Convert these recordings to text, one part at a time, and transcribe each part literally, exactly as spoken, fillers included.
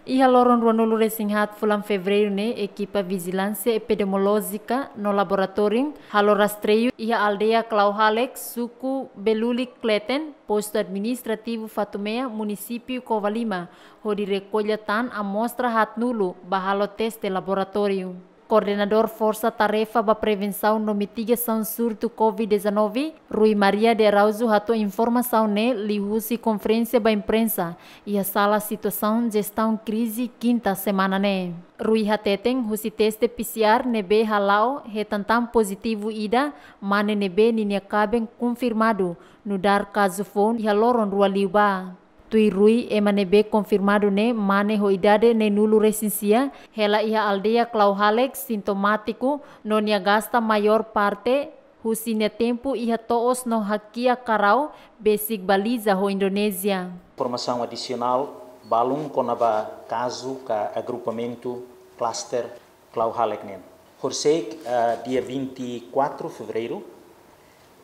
Iha loron ruanulu resin haat fulan Fevereiru ne'e, ekipa vijilánsia epidemiolójika no laboratóriu halo rastreiu iha aldeia Klauhalek, suku Belulik Kleten, postu administrativu Fatumea, munisípiu Covalima, hodi rekolla tan amostra haatnulu ba halo teste laboratóriu. Koordenadór Forsa Tarefa ba Prevensaun no Mitigasaun Surtu covid dezanove, Rui Maria de Araújo, hato'o informasaun ne'e liuhusi konferénsia ba imprensa iha sala situasaun jestaun krize, kinta semana ne'e. Rui hateten, husi teste P C R ne'ebé hala'o, hetan tan pozitivu ida mane ne'ebé ninia kaben konfirmadu nu'udar kazu foun iha loron rua liubá. Tuir Rui, ema ne'ebé konfirmadu ne'e mane ho idade neenulu resin sia, hela iha aldeia Klauhalek, sintomátiku, no nia gasta maiór parte husi nia tempu iha to'os no hakiak karau, besik baliza ho Indonézia. Informasaun adisionál balun kona-ba kazu ka agrupamentu klaster Klauhalek nian. Horisehik, ah, dia vinte e quatro Fevereiru,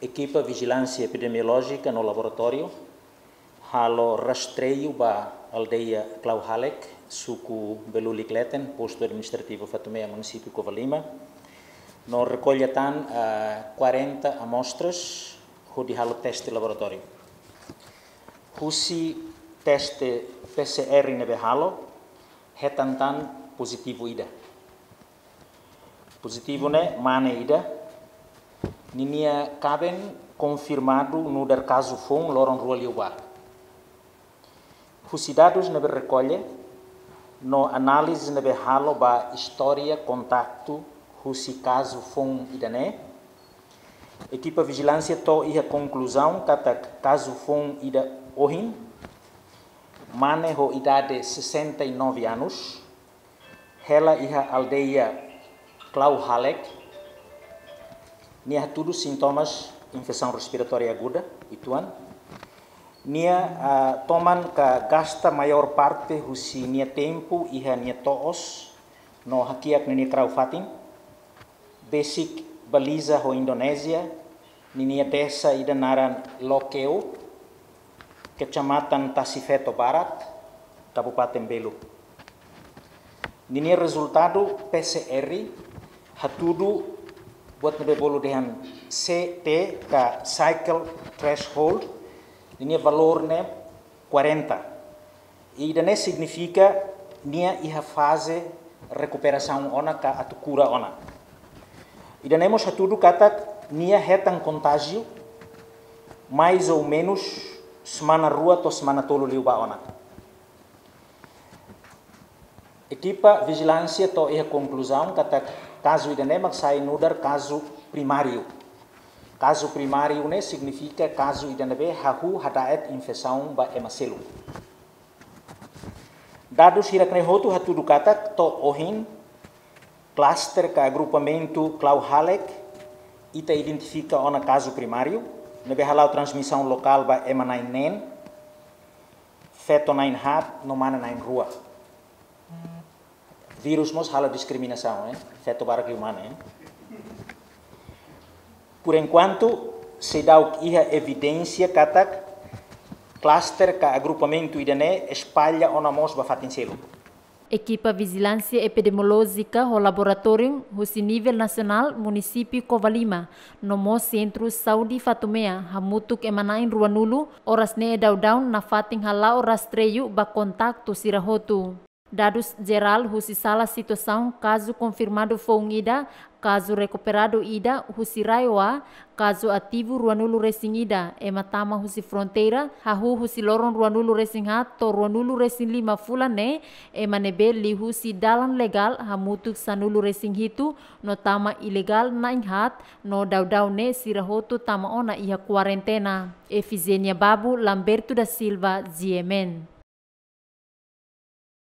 ekipa vijilánsia epidemiolójika no laboratóriu halo rastreiu ba aldeia Klauhalek, suku Belulik Kleten, postu administrativu Fatumea, munisípiu Covalima, no rekolla tan, ah, quarenta amostras hodi halo teste laboratóriu. Husi teste P C R ne'ebé halo, hetan tan pozitivu ida. Pozitivu ne'e mane ida, ninia kaben konfirmadu nu'udar kazu foun loron rua liubá. Husi dadus ne'ebé rekolla no análize ne'ebé halo ba istória kontaktu husi kazu foun ida-ne'e, ekipa vijilánsia to'o iha konkluzaun katak kazu foun ida ohin, mane ho idade sessenta e nove anos, hela iha aldeia Klauhalek, nia hatudu sintomas infesaun respiratória aguda, uitoan. Nia, ah, toman ka gasta maiór parte husi nia tempu iha nia to'os no hakiak ninia karau-fatin, besik baliza ho Indonézia, ninia desa ida naran Lokeu, Kecamatan Tasifeto Barat, Kabupaten Belu. Ninia rezultadu P C R hatudu buat ne'ebé bolu dehan C T ka cycle threshold, ninia valór ne'e quarenta. Ida-ne'e signifika nia iha faze rekuperasaun ona ka atu kura ona. Ida-ne'e mós hatudu katak nia hetan kontájiu mais ou menus semana rua to'o semana tolu liubá ona. Ekipa vijilánsia to'o iha konkluzaun katak kazu ida-ne'e mak sai nu'udar kazu primáriu. Kazu primáriu ne'e signifika kazu ida ne'ebé hahú hada'et infesaun ba ema seluk. Dadus hirak-ne'e hotu hatudu katak to'o ohin, klaster ka agrupamentu Klauhalek, ita identifika ona kazu primáriu, ne'ebé hala'o transmisaun lokál ba ema na'in neen, feto na'in haat no mane na'in rua. Vírus mós halo diskriminasaun, eh? Feto barak liu mane, eh? Por enquanto, seidauk iha evidénsia katak klaster ka agrupamentu ida-ne'e espalla ona mós ba fatin seluk. Ekipa vijilánsia epidemiolójika ho laboratóriu husi nivel nasionál, munisípiu Covalima, no mós Sentru Saúde Fatumea, hamutuk ema na'in ruanulu, oras ne'e daudaun nafatin hala'o rastreiu ba kontaktu sira hotu. Dadus jerál husi sala situasaun, kazu konfirmadu foun ida, kazu rekuperadu ida husi RAEOA, kazu ativu ruanulu resin ida, ema tama husi fronteira, hahú husi loron ruanulu resin haat to'o ruanulu resin lima fulan ne'e, ema ne'ebé liuhusi dalan legál hamutuk sanulu resin hitu, no tama ilegál na'in haat, no daudaun ne'e sira hotu tama ona iha kuarentena. Efigénia Babu, Lamberto da Silva, G M N.